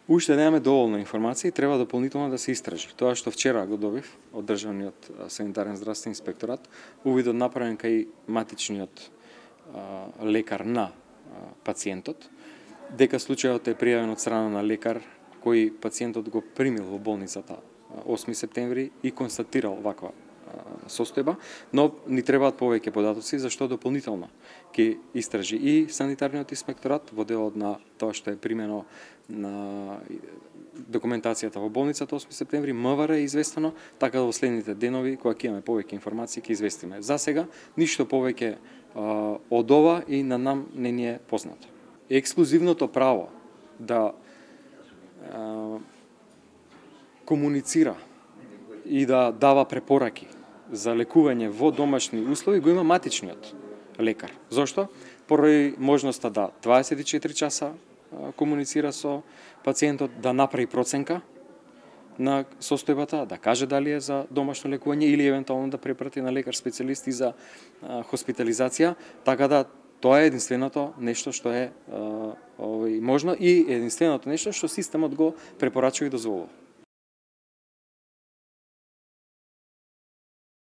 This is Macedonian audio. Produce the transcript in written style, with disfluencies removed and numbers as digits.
Уште немаме доволно информации и треба дополнително да се истражи. Тоа што вчера го добив од Државниот санитарен здравствен инспекторат, увидот направен кај матичниот лекар на пациентот, дека случајот е пријавен од страна на лекар кој пациентот го примил во болницата 8 септември и констатирал ваква состојба, но ни требаат повеќе податоци за што дополнително ќе истражи и санитарниот инспекторат во делот на тоа што е примено на документацијата во болницата 8 септември, МВР е известено, така да во следните денови кога ќе имаме повеќе информации ќе известиме. За сега ништо повеќе од ова и на нам не ни е познато. Ексклузивното право да комуницира и да дава препораки за лекување во домашни услови го има матичниот лекар. Зошто? Поради можноста да 24 часа комуницира со пациентот, да направи проценка на состојбата, да каже дали е за домашно лекување или евентуално да препрати на лекар специјалист и за хоспитализација, така да тоа е единственото нешто што е можно и единственото нешто што системот го препорачува и дозволува.